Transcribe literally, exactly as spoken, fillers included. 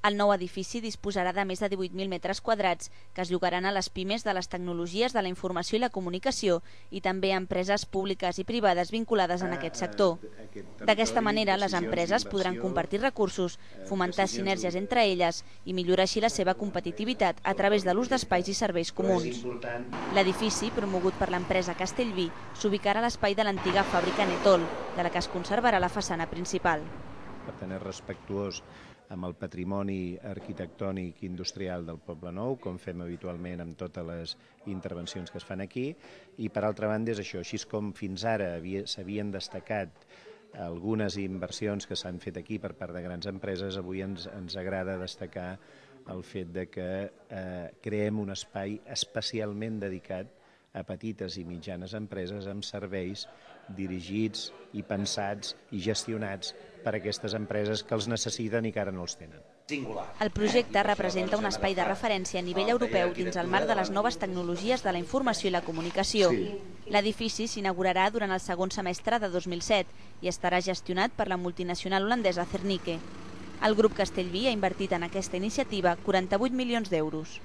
El nou edifici disposarà de més de divuit mil metres quadrats que es llogaran a les pimes de les tecnologies de la informació i la comunicació i també a empreses públiques i privades vinculades en aquest sector. D'aquesta manera, les empreses podran compartir recursos, fomentar sinergies entre elles i millorar així la seva competitivitat a través de l'ús d'espais i serveis comuns. L'edifici, promogut per l'empresa Castellví, s'ubicarà a l'espai de l'antiga fàbrica Netol, de la que es conservarà la façana principal. Per tant, és respectuós amb el patrimoni arquitectònic i industrial del Poble Nou, com fem habitualment amb totes les intervencions que es fan aquí, i per altra banda és això, així com fins ara s'havien destacat algunes inversions que s'han fet aquí per part de grans empreses, avui ens, ens agrada destacar el fet de que eh, creem un espai especialment dedicat a petites i mitjanes empreses amb serveis dirigits i pensats i gestionats per a aquestes empreses que els necessiten i que ara no els tenen. El projecte representa un espai de referència a nivell europeu dins el marc de les noves tecnologies de la informació i la comunicació. L'edifici s'inaugurarà durant el segon semestre de dos mil set i estarà gestionat per la multinacional holandesa Cernike. El grup Castellví ha invertit en aquesta iniciativa quaranta-vuit milions d'euros.